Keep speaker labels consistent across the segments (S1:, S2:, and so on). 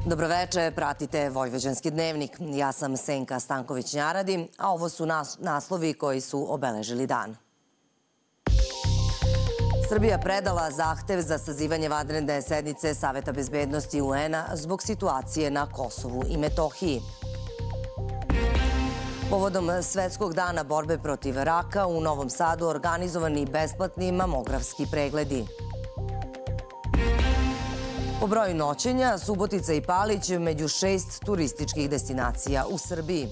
S1: Dobroveče, pratite Vojvođanski dnevnik. Ja sam Senka Stanković-Njaradi, a ovo su naslovi koji su obeležili dan. Srbija predala zahtev za sazivanje vanredne sednice Saveta bezbednosti UN-a zbog situacije na Kosovu i Metohiji. Povodom Svetskog dana borbe protiv raka u Novom Sadu organizovani besplatni mamografski pregledi. Po broju noćenja, Subotica i Palić među 6 turističkih destinacija u Srbiji.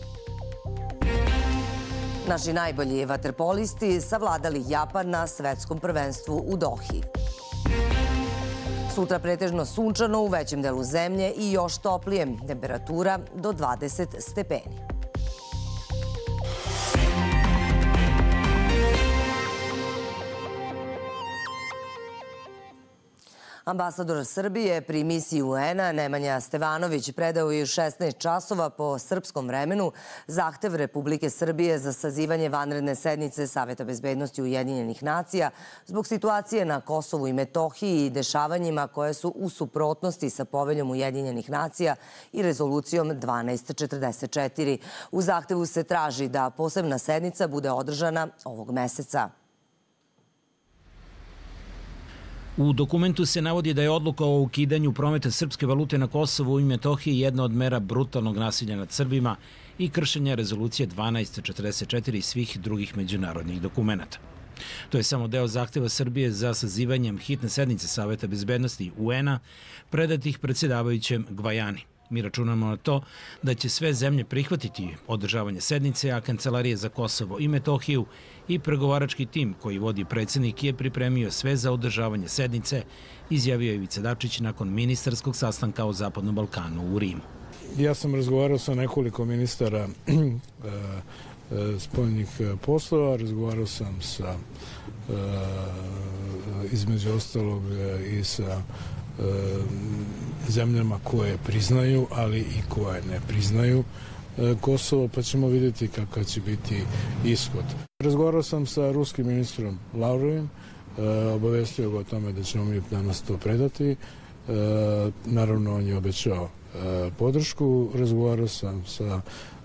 S1: Naši najbolji vaterpolisti savladali Japan na svetskom prvenstvu u Dohi. Sutra pretežno sunčano u većem delu zemlje i još toplije, temperatura do 20 stepeni. Ambasador Srbije pri misiji UN-a Nemanja Stevanović predao je u 16 časova po srpskom vremenu zahtev Republike Srbije za sazivanje vanredne sednice Saveta bezbednosti Ujedinjenih nacija zbog situacije na Kosovu i Metohiji i dešavanjima koje su u suprotnosti sa poveljom Ujedinjenih nacija i rezolucijom 1244. U zahtevu se traži da posebna sednica bude održana ovog meseca.
S2: U dokumentu se navodi da je odluka o ukidanju prometa srpske valute na Kosovu i Metohiji jedna od mera brutalnog nasilja nad Srbima i kršenja rezolucije 1244 i svih drugih međunarodnih dokumenta. To je samo deo zahteva Srbije za sazivanjem hitne sednice Saveta bezbednosti UN-a predatih predsjedavajućem Gvajani. Mi računamo na to da će sve zemlje prihvatiti održavanje sednice, a Kancelarija za Kosovo i Metohiju i pregovarački tim koji vodi predsjednik je pripremio sve za održavanje sednice, izjavio je Ivica Dačić nakon ministarskog sastanka o Zapadnom Balkanu u Rimu.
S3: Ja sam razgovarao sa nekoliko ministara spoljnih poslova, razgovarao sam sa između ostalog i sa zemljama koje priznaju, ali i koje ne priznaju Kosovo, pa ćemo vidjeti kakav će biti ishod. Razgovarao sam sa ruskim ministrom Lavrovim, obavestio ga o tome da ćemo mi danas to predati. Naravno, on je obećao podršku. Razgovarao sam sa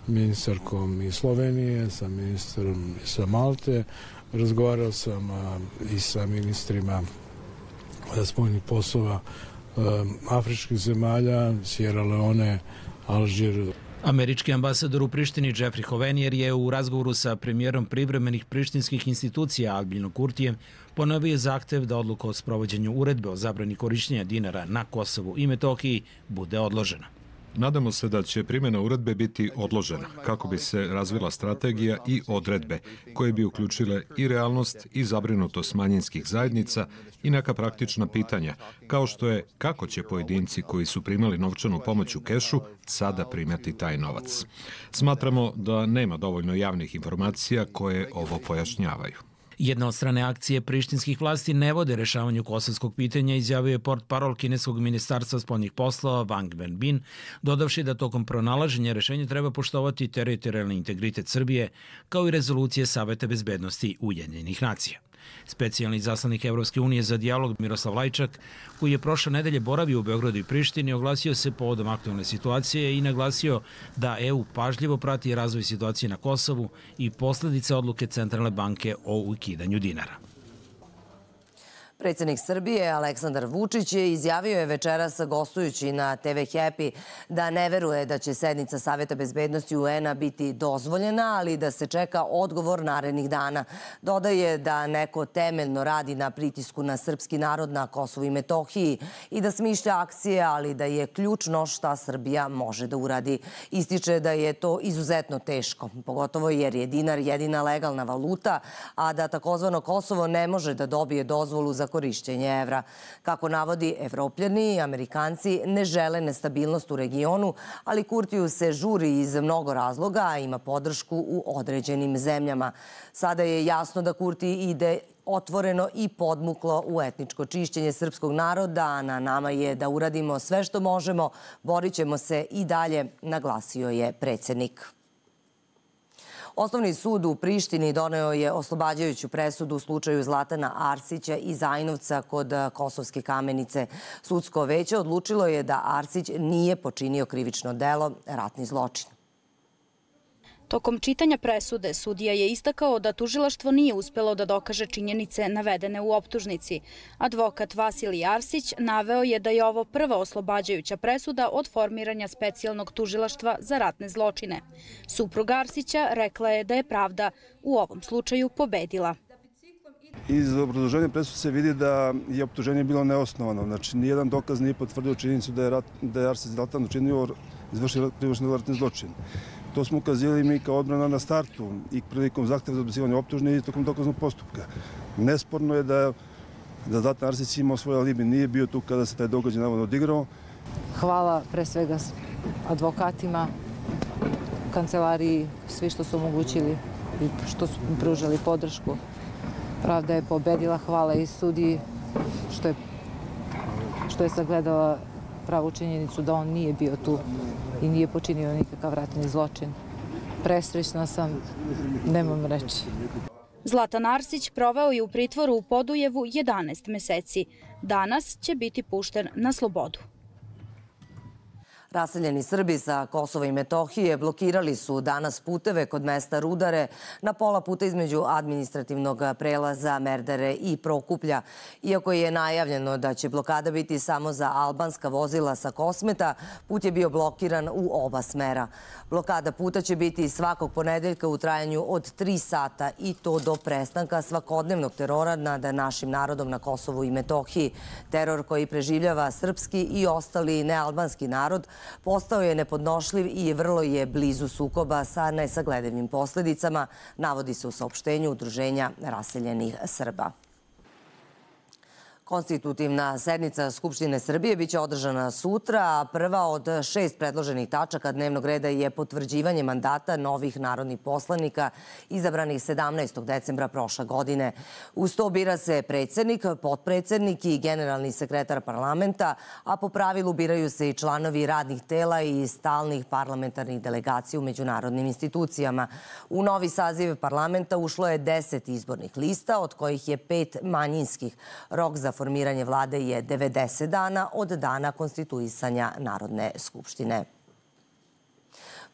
S3: ministarkom iz Slovenije, sa ministrom sa Malte. Razgovarao sam i sa ministrima spoljnih poslova afričkih zemalja, Sierra Leone, Alžir.
S2: Američki ambasador u Prištini Jeffrey Hovenier je u razgovoru sa premijerom privremenih prištinskih institucija Albinom Kurtijem ponovio zahtev da odluka o sprovođenju uredbe o zabrani korišćenja dinara na Kosovu i Metohiji bude odložena.
S4: Nadamo se da će primjena uredbe biti odložena kako bi se razvila strategija i odredbe koje bi uključile i realnost i zabrinutost manjinskih zajednica i neka praktična pitanja, kao što je kako će pojedinci koji su primali novčanu pomoć u kešu sada primati taj novac. Smatramo da nema dovoljno javnih informacija koje ovo pojašnjavaju.
S2: Jedna od strane akcije prištinskih vlasti ne vode rešavanju kosovskog pitanja, izjavio je portparol kineskog ministarstva spoljnih poslova Wang Wenbin, dodavši da tokom pronalaženja rešenja treba poštovati teritorijalni integritet Srbije, kao i rezolucije Saveta bezbednosti Ujedinjenih nacija. Specijalni izaslanik Evropske unije za dijalog Miroslav Lajčak, koji je prošle nedelje boravio u Beogradu i Prištini, oglasio se povodom aktualne situacije i naglasio da EU pažljivo prati razvoj situacije na Kosovu i posledice odluke Centralne banke o ukidanju dinara.
S1: Predsjednik Srbije Aleksandar Vučić izjavio je večeras gostujući na TV Happy da ne veruje da će sednica Saveta bezbednosti UN-a biti dozvoljena, ali da se čeka odgovor narednih dana. Dodaje da neko temeljno radi na pritisku na srpski narod na Kosovu i Metohiji i da smišlja akcije, ali da je ključno šta Srbija može da uradi. Ističe da je to izuzetno teško, pogotovo jer je dinar jedina legalna valuta, a da takozvano Kosovo ne može da dobije dozvolu za korišćenje evra. Kako navodi, Evropljani i Amerikanci ne žele nestabilnost u regionu, ali Kurtiju se žuri iz mnogo razloga, a ima podršku u određenim zemljama. Sada je jasno da Kurti ide otvoreno i podmuklo u etničko čišćenje srpskog naroda, a na nama je da uradimo sve što možemo, borit ćemo se i dalje, naglasio je predsjednik. Osnovni sud u Prištini doneo je oslobađajuću presudu u slučaju Zlatana Arsića i Zajnovca kod Kosovske Kamenice. Sudsko veće odlučilo je da Arsić nije počinio krivično delo, ratni zločin.
S5: Tokom čitanja presude, sudija je istakao da tužilaštvo nije uspelo da dokaže činjenice navedene u optužnici. Advokat Vasilij Arsić naveo je da je ovo prva oslobađajuća presuda od formiranja specijalnog tužilaštva za ratne zločine. Supruga Arsića rekla je da je pravda u ovom slučaju pobedila.
S6: Iz obrazloženja presude se vidi da je optuženje bilo neosnovano. Znači, nijedan dokaz nije potvrdio činjenicu da je Arsić Zlatan izvršio krivični ratni zločin. To smo ukazivali mi kao odbrana na startu i prilikom zahteva za odbacivanje optužne i tokom dokaznog postupka. Nesporno je da Zlatan Arsić imao svoj alibi, nije bio tu kada se taj događaj navodno odigrao.
S7: Hvala pre svega advokatima, kancelariji, svi što su omogućili i što su pružali podršku. Pravda je pobedila, hvala i sudiji što je sagledala pravu činjenicu da on nije bio tu i nije počinio nikakav ratni zločin. Presrećna sam, nemam reči.
S5: Zlatan Arsić proveo je u pritvoru u Podujevu 11 meseci. Danas će biti pušten na slobodu.
S1: Raseljeni Srbi sa Kosova i Metohije blokirali su danas puteve kod mesta Rudare na pola puta između administrativnog prelaza Merdare i Prokuplja. Iako je najavljeno da će blokada biti samo za albanska vozila sa Kosmeta, put je bio blokiran u oba smera. Blokada puta će biti svakog ponedeljka u trajanju od 3 sata i to do prestanka svakodnevnog terora nad našim narodom na Kosovu i Metohiji. Teror koji preživljava srpski i ostali nealbanski narod postao je nepodnošljiv i vrlo je blizu sukoba sa nesagledivim posledicama, navodi se u saopštenju Udruženja raseljenih Srba. Konstitutivna sednica Skupštine Srbije biće održana sutra, a prva od 6 predloženih tačaka dnevnog reda je potvrđivanje mandata novih narodnih poslanika izabranih 17. decembra prošle godine. Uz to bira se predsjednik, potpredsjednik i generalni sekretar parlamenta, a po pravilu biraju se i članovi radnih tela i stalnih parlamentarnih delegacija u međunarodnim institucijama. U novi saziv parlamenta ušlo je 10 izbornih lista, od kojih je 5 manjinskih. Rok za formiranje vlade je 90 dana od dana konstituisanja Narodne skupštine.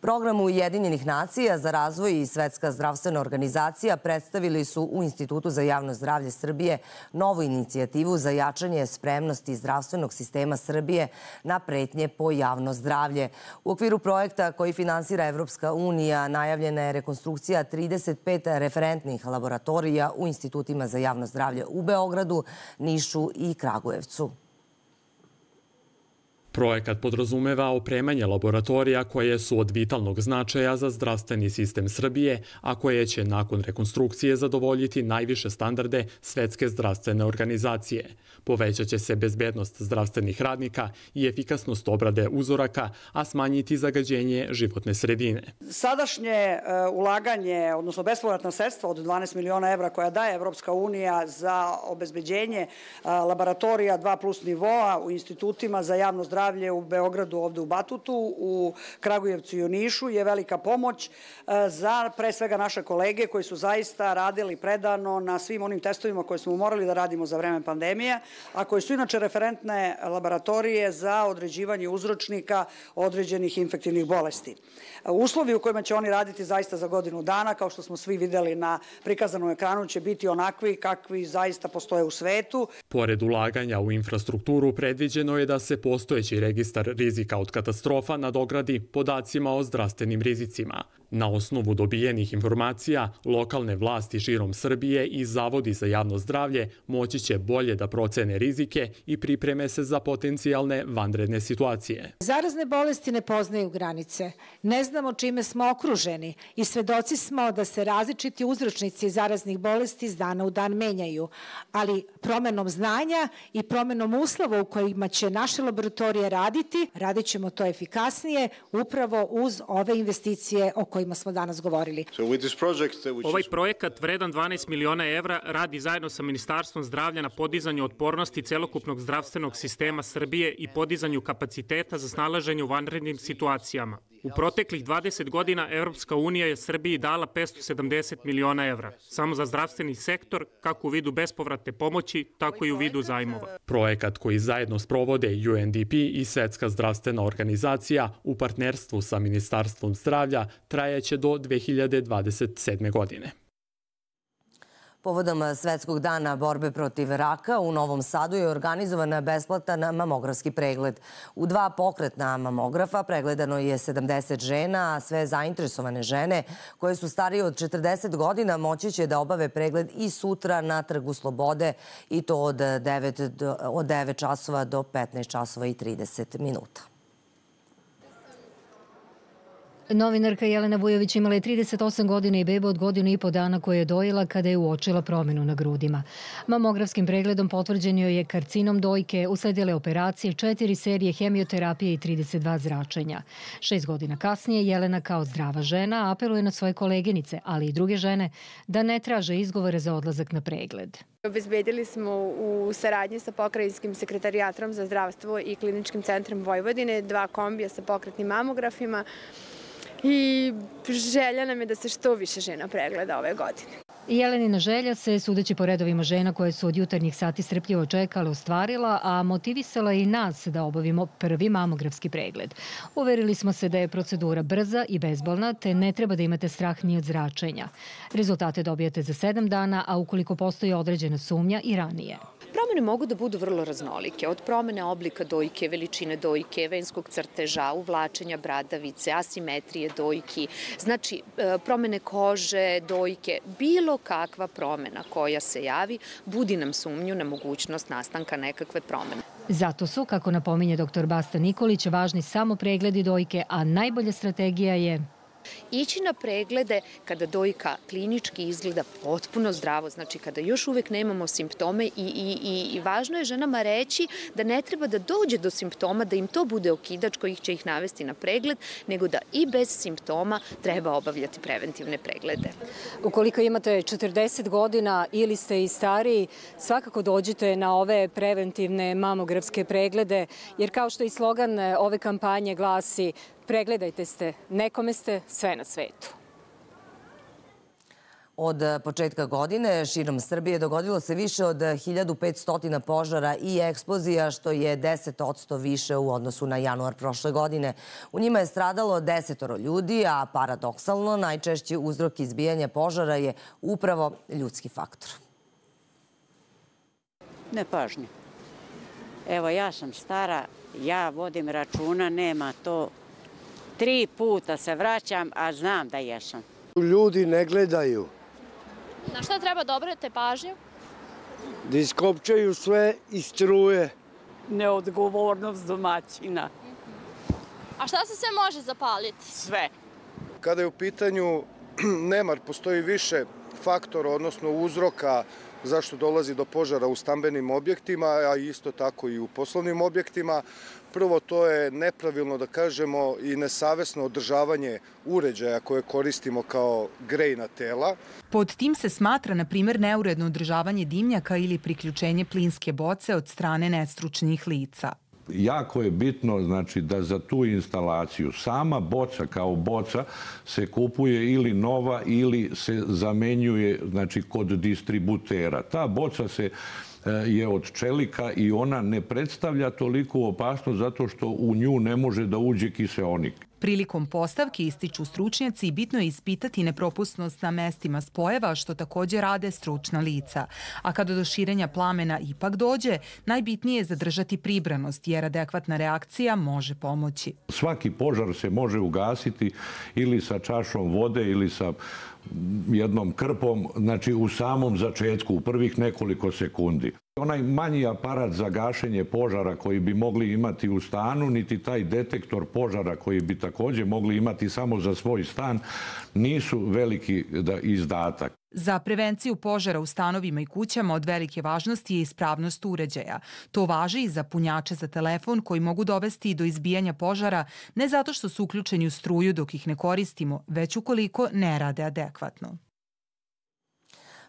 S1: Program Ujedinjenih nacija za razvoj i Svetska zdravstvena organizacija predstavili su u Institutu za javno zdravlje Srbije novu inicijativu za jačanje spremnosti zdravstvenog sistema Srbije na pretnje po javno zdravlje. U okviru projekta koji finansira Evropska unija najavljena je rekonstrukcija 35 referentnih laboratorija u institutima za javno zdravlje u Beogradu, Nišu i Kragujevcu.
S8: Projekat podrazumeva opremanje laboratorija koje su od vitalnog značaja za zdravstveni sistem Srbije, a koje će nakon rekonstrukcije zadovoljiti najviše standarde Svetske zdravstvene organizacije. Povećat će se bezbednost zdravstvenih radnika i efikasnost obrade uzoraka, a smanjiti zagađenje životne sredine.
S9: Sadašnje ulaganje, odnosno bespovratna sredstva od 12 miliona evra koja daje Evropska unija za obezbeđenje laboratorija 2+ nivoa u institutima za javno zdravlje u Beogradu, ovde u Batutu, u Kragujevcu i u Nišu je velika pomoć za pre svega naše kolege koji su zaista radili predano na svim onim testovima koje smo morali da radimo za vreme pandemije, a koji su inače referentne laboratorije za određivanje uzročnika određenih infektivnih bolesti. Uslovi u kojima će oni raditi zaista za godinu dana, kao što smo svi videli na prikazanom ekranu, će biti onakvi kakvi zaista postoje u svetu.
S8: Pored ulaganja u infrastrukturu, predviđeno je da se postojeći registar rizika od katastrofa nadogradi podacima o zdravstvenim rizicima. Na osnovu dobijenih informacija, lokalne vlasti širom Srbije i zavodi za javno zdravlje moći će bolje da procene rizike i pripreme se za potencijalne vanredne situacije.
S10: Zarazne bolesti ne poznaju granice. Ne znamo čime smo okruženi i svedoci smo da se različiti uzročnici zaraznih bolesti iz dana u dan menjaju. Ali promenom znanja i promenom uslova u kojima će naše laboratorije raditi, radit ćemo to efikasnije upravo uz ove investicije o kojima smo danas govorili.
S11: Ovaj projekat vredan 12 miliona evra radi zajedno sa Ministarstvom zdravlja na podizanju otpornosti celokupnog zdravstvenog sistema Srbije i podizanju kapaciteta za snalaženje u vanrednim situacijama. U proteklih 20 godina Evropska unija je Srbiji dala 570 miliona evra, samo za zdravstveni sektor, kako u vidu bespovratne pomoći, tako i u vidu zajmova.
S8: Projekat koji zajedno sprovode UNDP i Svetska zdravstvena organizacija u partnerstvu sa Ministarstvom zdravlja trajaće do 2027. godine.
S1: Povodom Svetskog dana borbe protiv raka u Novom Sadu je organizovan besplatan mamografski pregled. U 2 pokretna mamografa pregledano je 70 žena, a sve zainteresovane žene koje su starije od 40 godina moći će da obave pregled i sutra na Trgu Slobode i to od 9 časova do 15 časova i 30 minuta.
S12: Novinarka Jelena Vujović imala je 38 godina i beba od 1,5 dana koje je dojila kada je uočila promenu na grudima. Mamografskim pregledom potvrđen joj je karcinom dojke, usledile operacije, 4 serije hemioterapije i 32 zračenja. 6 godina kasnije Jelena kao zdrava žena apeluje na svoje koleginice, ali i druge žene, da ne traže izgovore za odlazak na pregled.
S13: Obezbedili smo u saradnji sa Pokrajinskim sekretarijatom za zdravstvo i Kliničkim centrom Vojvodine 2 kombija sa pokretnim mamografima i želja nam je da se što više žena pregleda ove godine.
S12: Jelenina želja se, sudeći po redovima žena koje su od jutarnjih sati strpljivo čekale, ostvarila, a motivisala i nas da obavimo prvi mamografski pregled. Uverili smo se da je procedura brza i bezbolna, te ne treba da imate strah ni od zračenja. Rezultate dobijate za 7 dana, a ukoliko postoji određena sumnja i ranije.
S14: Promene mogu da budu vrlo raznolike, od promene oblika dojke, veličine dojke, venskog crteža, uvlačenja bradavice, asimetrije dojki, znači promene kože, dojke, bilo kakva promena koja se javi, budi nam sumnju na mogućnost nastanka nekakve promene.
S12: Zato su, kako napominje dr. Basta Nikolić, važni samo pregledi dojke, a najbolja strategija je
S14: ići na preglede kada dojka klinički izgleda potpuno zdravo, znači kada još uvek nemamo simptome i važno je ženama reći da ne treba da dođe do simptoma, da im to bude okidač koji će ih navesti na pregled, nego da i bez simptoma treba obavljati preventivne preglede.
S12: Ukoliko imate 40 godina ili ste i stariji, svakako dođite na ove preventivne mamografske preglede, jer kao što i slogan ove kampanje glasi: pregledajte se, nekome ste sve na svetu.
S1: Od početka godine širom Srbije dogodilo se više od 1500 požara i eksplozija, što je 10% više u odnosu na januar prošle godine. U njima je stradalo 10 ljudi, a paradoksalno najčešći uzrok izbijanja požara je upravo ljudski faktor.
S15: Nepažnja. Evo, ja sam stara, ja vodim računa, nema to. 3 puta se vraćam, a znam da jesam.
S16: Ljudi ne gledaju.
S17: Na šta treba da obratite pažnju?
S16: Da iskopčaju sve iz struje.
S15: Neodgovornost domaćina.
S17: A šta se sve može zapaliti?
S15: Sve.
S18: Kada je u pitanju nemar, postoji više faktora, odnosno uzroka zašto dolazi do požara u stambenim objektima, a isto tako i u poslovnim objektima. Prvo, to je nepravilno, da kažemo, i nesavesno održavanje uređaja koje koristimo kao grejna tela.
S19: Pod tim se smatra, na primjer, neuredno održavanje dimnjaka ili priključenje plinske boce od strane nestručnih lica.
S20: Jako je bitno, znači, da za tu instalaciju sama boca kao boca se kupuje ili nova ili se zamenjuje, znači, kod distributera. Ta boca je od čelika i ona ne predstavlja toliku opasnost zato što u nju ne može da uđe kiseonik.
S19: Prilikom postavke, ističu stručnjaci, bitno je ispitati nepropusnost na mestima spojeva, što također rade stručna lica. A kada do širenja plamena ipak dođe, najbitnije je zadržati pribranost, jer adekvatna reakcija može pomoći.
S20: Svaki požar se može ugasiti ili sa čašom vode ili sa jednom krpom, znači u samom začetku, u prvih nekoliko sekundi. Onaj manji aparat za gašenje požara koji bi mogli imati u stanu, niti taj detektor požara koji bi također mogli imati samo za svoj stan, nisu veliki izdatak.
S19: Za prevenciju požara u stanovima i kućama od velike važnosti je ispravnost uređaja. To važi i za punjače za telefon koji mogu dovesti do izbijanja požara, ne zato što su uključeni u struju dok ih ne koristimo, već ukoliko ne rade adekvatno.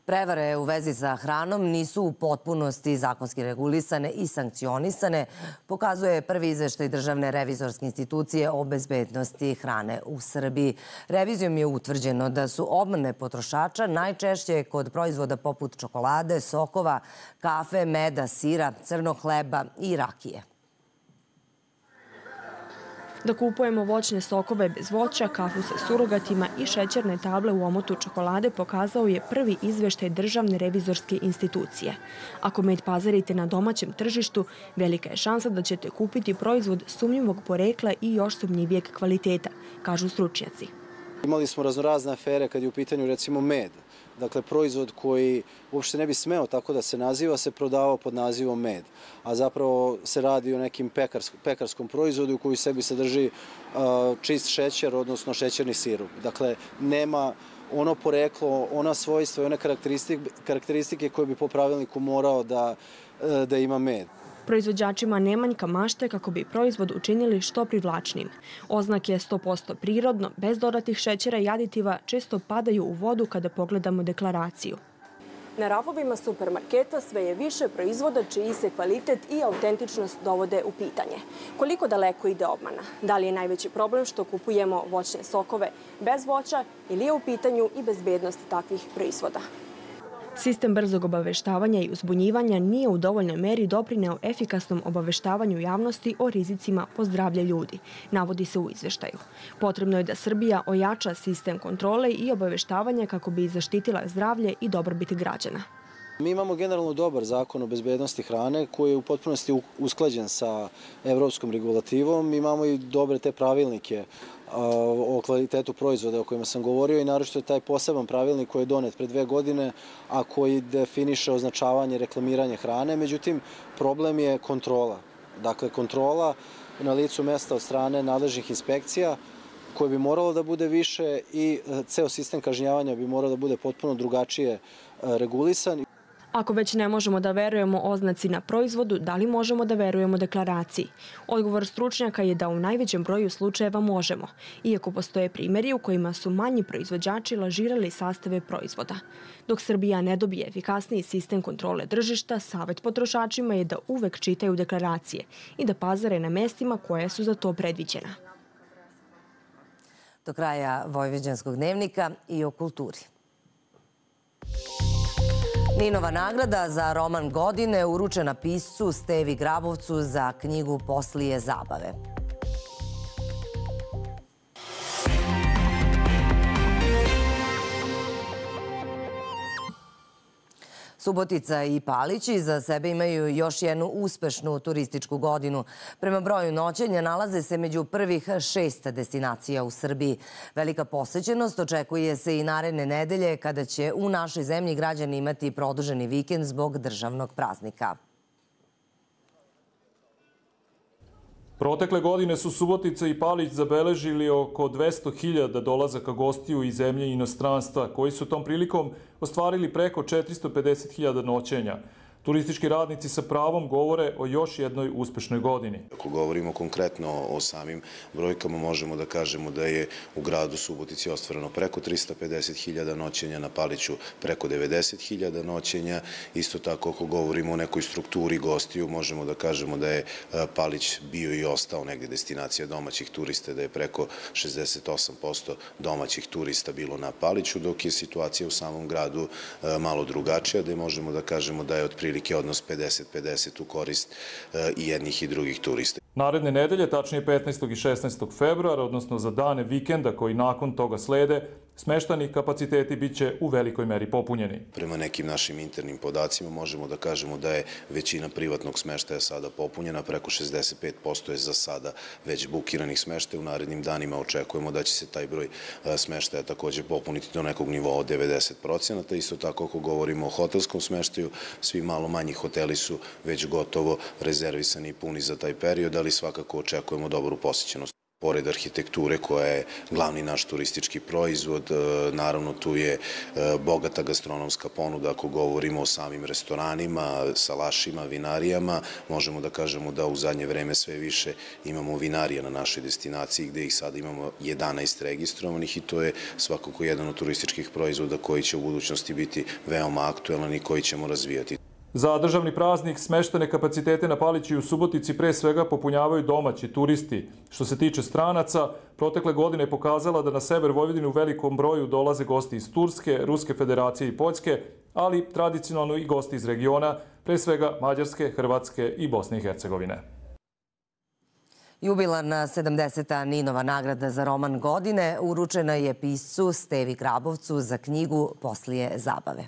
S1: Prevare u vezi sa hranom nisu u potpunosti zakonski regulisane i sankcionisane, pokazuje prvi izveštaj Državne revizorske institucije o bezbednosti hrane u Srbiji. Revizijom je utvrđeno da su obmane potrošača najčešće kod proizvoda poput čokolade, sokova, kafe, meda, sira, crnog hleba i rakije.
S21: Da kupujemo voćne sokove bez voća, kafu sa surogatima i šećerne table u omotu čokolade pokazao je prvi izveštaj Državne revizorske institucije. Ako med pazarite na domaćem tržištu, velika je šansa da ćete kupiti proizvod sumnjivog porekla i još sumnjivijeg kvaliteta, kažu stručnjaci.
S22: Imali smo raznorazne afere kad je u pitanju recimo med. Dakle, proizvod koji uopšte ne bi smeo tako da se naziva, se prodavao pod nazivom med. A zapravo se radi o nekim pekarskom proizvodu koji u sebi sadrži čist šećer, odnosno šećerni sirup. Dakle, nema ono poreklo, ona svojstva i one karakteristike koje bi po pravilniku morao da ima med.
S21: Proizvođačima ne manjka mašte kako bi proizvod učinili što privlačnim. Oznake 100% prirodno, bez dodatih šećera i aditiva, često padaju u vodu kada pogledamo deklaraciju. Na rafovima supermarketa sve je više proizvoda čiji se kvalitet i autentičnost dovode u pitanje. Koliko daleko ide obmana? Da li je najveći problem što kupujemo voćne sokove bez voća ili je u pitanju i bezbednost takvih proizvoda? Sistem brzog obaveštavanja i uzbunjivanja nije u dovoljnoj meri doprineo efikasnom obaveštavanju javnosti o rizicima po zdravlje ljudi, navodi se u izveštaju. Potrebno je da Srbija ojača sistem kontrole i obaveštavanja kako bi zaštitila zdravlje i dobrobit građana.
S22: Mi imamo generalno dobar zakon o bezbednosti hrane koji je u potpunosti usklađen sa evropskom regulativom. Imamo i dobre te pravilnike o kvalitetu proizvoda o kojima sam govorio i naročito je taj poseban pravilnik koji je donet pre 2 godine, a koji definiše označavanje i reklamiranje hrane. Međutim, problem je kontrola. Dakle, kontrola na licu mesta od strane nadležnih inspekcija koje bi moralo da bude više i ceo sistem kažnjavanja bi morao da bude potpuno drugačije regulisan.
S21: Ako već ne možemo da verujemo oznaci na proizvodu, da li možemo da verujemo deklaraciji? Odgovor stručnjaka je da u najvećem broju slučajeva možemo, iako postoje primjeri u kojima su manji proizvođači lažirali sastave proizvoda. Dok Srbija ne dobije efikasniji sistem kontrole tržišta, savjet potrošačima je da uvek čitaju deklaracije i da pazare na mestima koje su za to predviđena.
S1: Do kraja Vojvođanskog dnevnika i o kulturi. Ninova nagrada za roman godine uručena piscu Stevi Grabovcu za knjigu Poslije zabave. Subotica i Palić iza sebe imaju još jednu uspešnu turističku godinu. Prema broju noćenja nalaze se među prvih 6 destinacija u Srbiji. Velika posećenost očekuje se i naredne nedelje kada će u našoj zemlji građani imati produženi vikend zbog državnog praznika.
S23: Protekle godine su Subotica i Palić zabeležili oko 200.000 dolazaka gostiju iz zemlje i inostranstva, koji su tom prilikom ostvarili preko 450.000 noćenja. Turistički radnici sa pravom govore o još jednoj uspešnoj godini.
S24: Ako govorimo konkretno o samim brojkama, možemo da kažemo da je u gradu Subotici ostvareno preko 350.000 noćenja, na Paliću preko 90.000 noćenja. Isto tako, ako govorimo o nekoj strukturi gostiju, možemo da kažemo da je Palić bio i ostao negde destinacija domaćih turista, da je preko 68% domaćih turista bilo na Paliću, dok je situacija u samom gradu malo drugačija, da možemo da kažemo da je otprilike odnos 50-50 u korist i jednih i drugih turista.
S23: Naredne nedelje, tačnije 15. i 16. februara, odnosno za dane vikenda koji nakon toga slede, smeštani kapaciteti biće u velikoj meri popunjeni.
S24: Prema nekim našim internim podacima možemo da kažemo da je većina privatnog smeštaja sada popunjena, preko 65% je za sada već bukiranih smeštaja. U narednim danima očekujemo da će se taj broj smeštaja također popuniti do nekog nivoa od 90%. Isto tako, ako govorimo o hotelskom smeštaju, svi malo manji hoteli su već gotovo rezervisani i puni za taj period, ali svakako očekujemo dobru posjećenost. Pored arhitekture koja je glavni naš turistički proizvod, naravno tu je bogata gastronomska ponuda. Ako govorimo o samim restoranima, salašima, vinarijama, možemo da kažemo da u zadnje vreme sve više imamo vinarija na našoj destinaciji gde ih sada imamo 11 registrovanih i to je svakako jedan od turističkih proizvoda koji će u budućnosti biti veoma aktuelan i koji ćemo razvijati.
S23: Za državni praznik smeštene kapacitete na Paliću i u Subotici pre svega popunjavaju domaći turisti. Što se tiče stranaca, protekle godine je pokazala da na sever Vojvodine u velikom broju dolaze gosti iz Turske, Ruske federacije i Poljske, ali tradicionalno i gosti iz regiona, pre svega Mađarske, Hrvatske i Bosne i Hercegovine.
S1: Jubilarna 70. Ninova nagrada za roman godine uručena je piscu Stevi Grabovcu za knjigu Poslije zabave.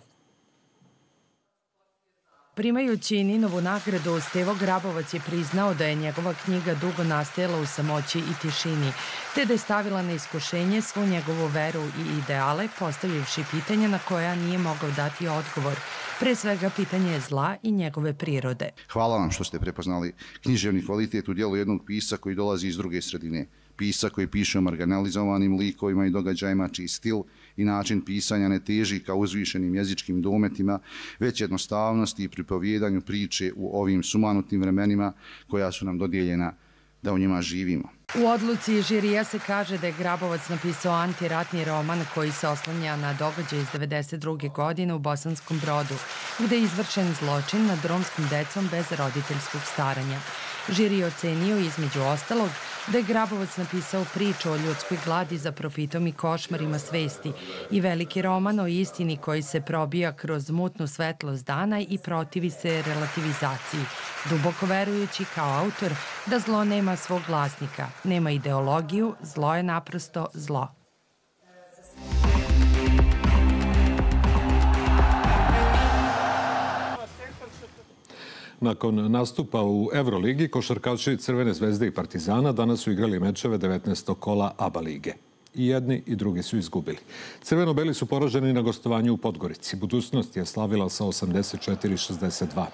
S2: Primajući Ninovu nagradu, Stevo Grabovac je priznao da je njegova knjiga dugo nastajala u samoći i tišini, te da je stavila na iskušenje svu njegovu veru i ideale, postavljivši pitanja na koja nije mogao dati odgovor. Pre svega pitanje zla i njegove prirode.
S3: Hvala vam što ste prepoznali književni kvalitet u dijelu jednog pisca koji dolazi iz druge sredine. Pisca koji piše o marginalizovanim likovima i događajima čiji stil i način pisanja ne teži ka uzvišenim jezičkim dometima, već jednostavnosti i pripovjedanju priče u ovim sumanutim vremenima koja su nam dodijeljena da u njima živimo.
S2: U odluci žirija se kaže da je Grabovac napisao antiratni roman koji se oslanja na događaj iz 1992. godine u Bosanskom Brodu, gde je izvršen zločin nad romskom decom bez roditeljskog staranja. Žiri je ocenio između ostalog da je Grabovac napisao priču o ljudskoj gladi za profitom i košmarima svesti i veliki roman o istini koji se probija kroz mutnu svetlost dana i protivi se relativizaciji, duboko verujući kao autor da zlo nema svog glasnika, nema ideologiju, zlo je naprosto zlo.
S4: Nakon nastupa u Euroligi, košarkaši Crvene zvezde i Partizana danas su igrali mečeve 19. kola ABA lige. I jedni i drugi su izgubili. Crveno-beli su poraženi na gostovanju u Podgorici. Budućnost je slavila sa 84-62.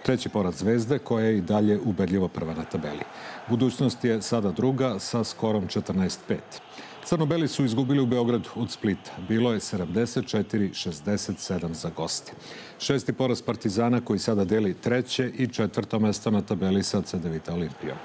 S4: Treći poraz Zvezde, koja je i dalje ubedljivo prva na tabeli. Budućnost je sada druga sa skorom 14-5. Crno-beli su izgubili u Beogradu od Splita. Bilo je 74-67 za goste. Šesti poraz Partizana koji sada deli treće i četvrto mesto na tabeli sa Cedevita Olimpijom.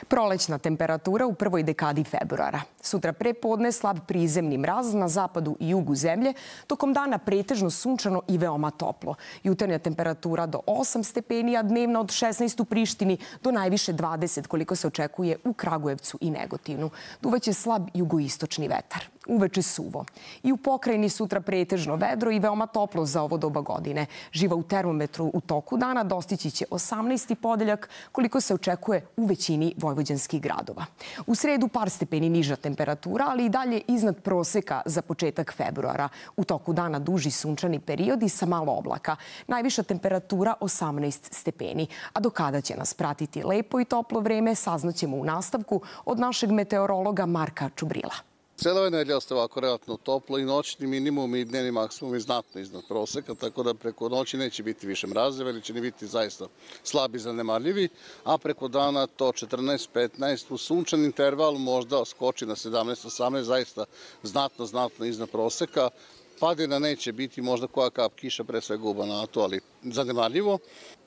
S6: Prolećna temperatura u prvoj dekadi februara. Sutra pre podne slab prizemni mraz na zapadu i jugu zemlje, tokom dana pretežno sunčano i veoma toplo. Jutarnja temperatura do 8 stepeni, a dnevna od 16 u Prištini do najviše 20 koliko se očekuje u Kragujevcu i Negotinu. Duvaće slab jugoistočni vetar. Uveče suvo. I u pokrajini sutra pretežno vedro i veoma toplo za ovo doba godine. Živa u termometru u toku dana dostići će 18. podeljak koliko se očekuje u većini vojvođanskih gradova. U sredu par stepeni niža temperatura, ali i dalje iznad proseka za početak februara. U toku dana duži sunčani periodi sa malo oblaka. Najviša temperatura 18 stepeni. A do kada će nas pratiti lepo i toplo vreme saznaćemo u nastavku od našeg meteorologa Marka Čubrila.
S25: Cijela ova nedelja ostaje ovako relativno toplo i noćni minimum i dnevni maksimum je znatno iznad proseka, tako da preko noći neće biti više mrazeva ili će ne biti zaista slabi zanemarljivi, a preko dana to 14-15 u sunčan interval možda skoči na 17-18, zaista znatno iznad proseka. Padina neće biti, možda koja kap kiša, pre svega u Banatu, ali zanemarljivo.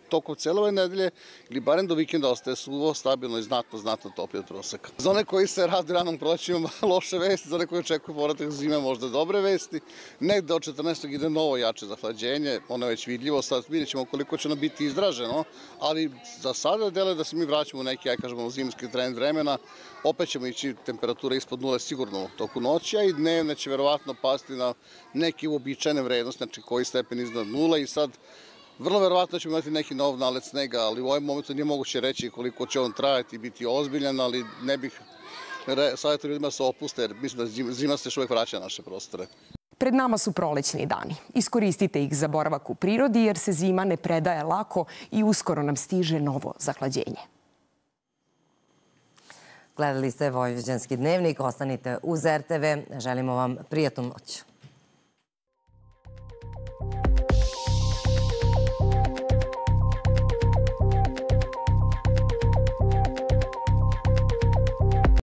S25: Tokom cijele ove nedelje ili barem do vikenda ostaje suvo, stabilno i znatno toplije od proseka. Za one koji se radi ranom prolećima loše vesti, za one koji očekuju povratak zime možda dobre vesti. Negde od 14. ide novo jače zahlađenje, ono je već vidljivo, sad vidjet ćemo koliko će ono biti izraženo, ali za sada deluje da se mi vraćamo u neki, zimski trend vremena. Opet ćemo ići temperatura ispod nule sigurno u toku noći, a i dnevne će verovatno pasti na neke uobičajene vrednosti, znači koji stepen iznad nula i sad vrlo verovatno ćemo imati neki nov nalet snega, ali u ovom momentu nije moguće reći koliko će on trajati i biti ozbiljan, ali ne bih savjetio ljudima se opuste, jer mislim da zima se još uvijek vraća na naše prostore.
S6: Pred nama su prolećni dani. Iskoristite ih za boravak u prirodi jer se zima ne predaje lako i uskoro nam stiže novo zahlađenje.
S1: Gledali ste Vojvođanski dnevnik, ostanite uz RTV. Želimo vam prijatnu noć.